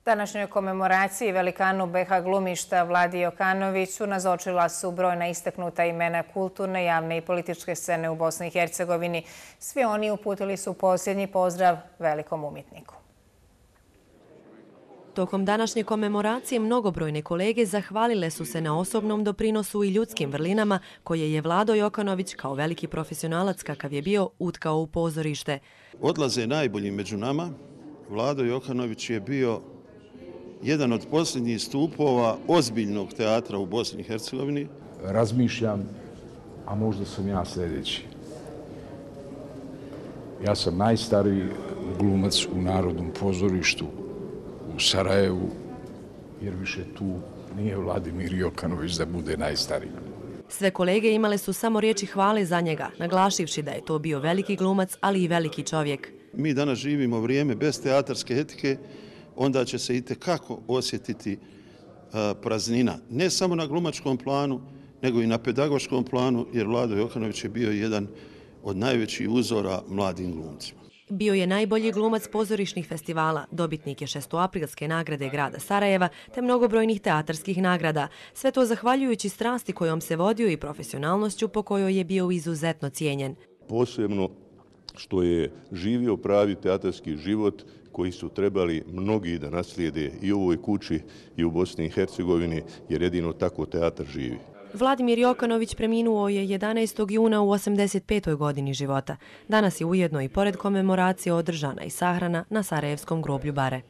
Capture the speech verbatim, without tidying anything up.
Današnjoj komemoraciji velikanu be ha glumišta Vladi Jokanoviću nazočila su brojna istaknuta imena kulturne, javne i političke scene u Bosni i Hercegovini. Svi oni uputili su posljednji pozdrav velikom umjetniku. Tokom današnje komemoracije mnogobrojne kolege zahvalile su se na osobnom doprinosu i ljudskim vrlinama koje je Vlado Jokanović, kao veliki profesionalac kakav je bio, utkao u pozorište. Odlaze najbolji među nama. Vlado Jokanović je bio jedan od posljednjih stupova ozbiljnog teatra u Bosni i Hercegovini. Razmišljam, a možda sam ja sljedeći. Ja sam najstariji glumac u Narodnom pozorištu u Sarajevu, jer više tu nije Vladimir Jokanović da bude najstariji. Sve kolege imale su samo riječi hvale za njega, naglašivši da je to bio veliki glumac, ali i veliki čovjek. Mi danas živimo vrijeme bez teatarske etike, onda će se itekako osjetiti praznina. Ne samo na glumačkom planu, nego i na pedagoškom planu, jer Vlado Jokanović je bio jedan od najvećih uzora mladim glumcima. Bio je najbolji glumac pozorišnih festivala, dobitnik je šestoaprilske nagrade grada Sarajeva te mnogobrojnih teatarskih nagrada. Sve to zahvaljujući strasti kojom se vodio i profesionalnošću po kojoj je bio izuzetno cijenjen. Posebno što je živio pravi teatarski život koji su trebali mnogi da naslijede i u ovoj kući i u Bosni i Hercegovini, jer jedino tako teatar živi. Vladimir Jokanović preminuo je jedanaestog juna u osamdeset petoj godini života. Danas je ujedno i pored komemoracije održana i sahrana na Sarajevskom groblju Bare.